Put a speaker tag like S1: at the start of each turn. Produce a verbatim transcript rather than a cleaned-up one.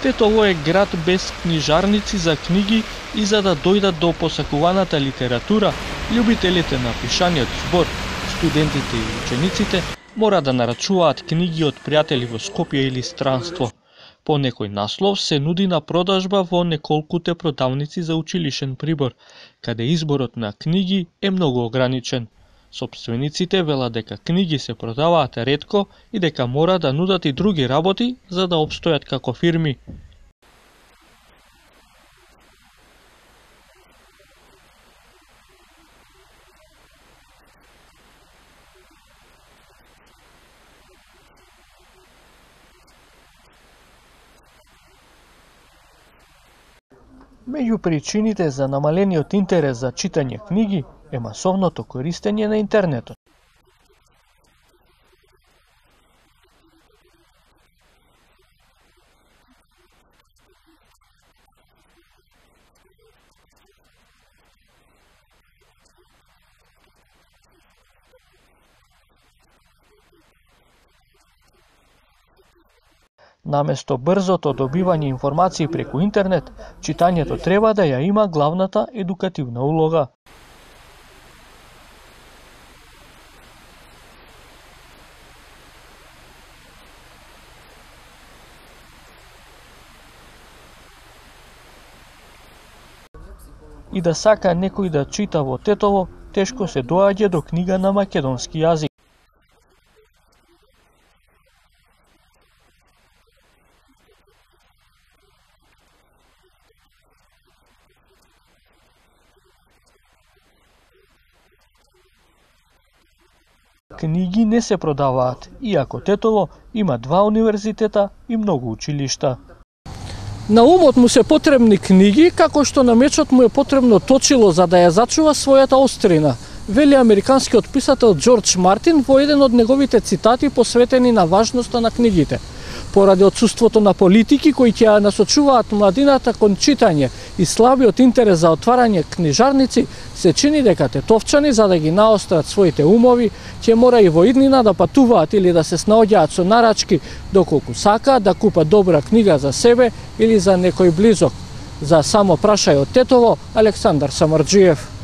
S1: Тетово е град без книжарници за книги и за да дојдат до посакуваната литература, љубителите на пишаниот збор, студентите и учениците мора да нарачуваат книги од пријатели во Скопје или странство. По некој наслов се нуди на продажба во неколкуте продавници за училишен прибор, каде изборот на книги е многу ограничен. Сопствениците велат дека книги се продаваат ретко и дека мора да нудат и други работи за да опстојат како фирми. Меѓу причините за намалениот интерес за читање книги е масовното користење на интернетот. Наместо брзото добивање информации преку интернет, читањето треба да ја има главната едукативна улога. И да сака некој да чита во Тетово, тешко се доаѓа до книга на македонски јазик. Книги не се продаваат, иако Тетово има два универзитета и многу училишта.
S2: На умот му се потребни книги, како што на мечот му е потребно точило за да ја зачува својата острина, вели американскиот писател Џорџ Мартин во еден од неговите цитати посветени на важноста на книгите. Поради отсуството на политики кои ќе ја насочуваат младината кон читање и слабиот интерес за отварање книжарници, се чини дека тетовчани, за да ги наострат своите умови, ќе мора и во иднина да патуваат или да се снаоѓаат со нарачки доколку сакаат да купат добра книга за себе или за некој близок. За само прашај од Тетово, Александар Самарџиев.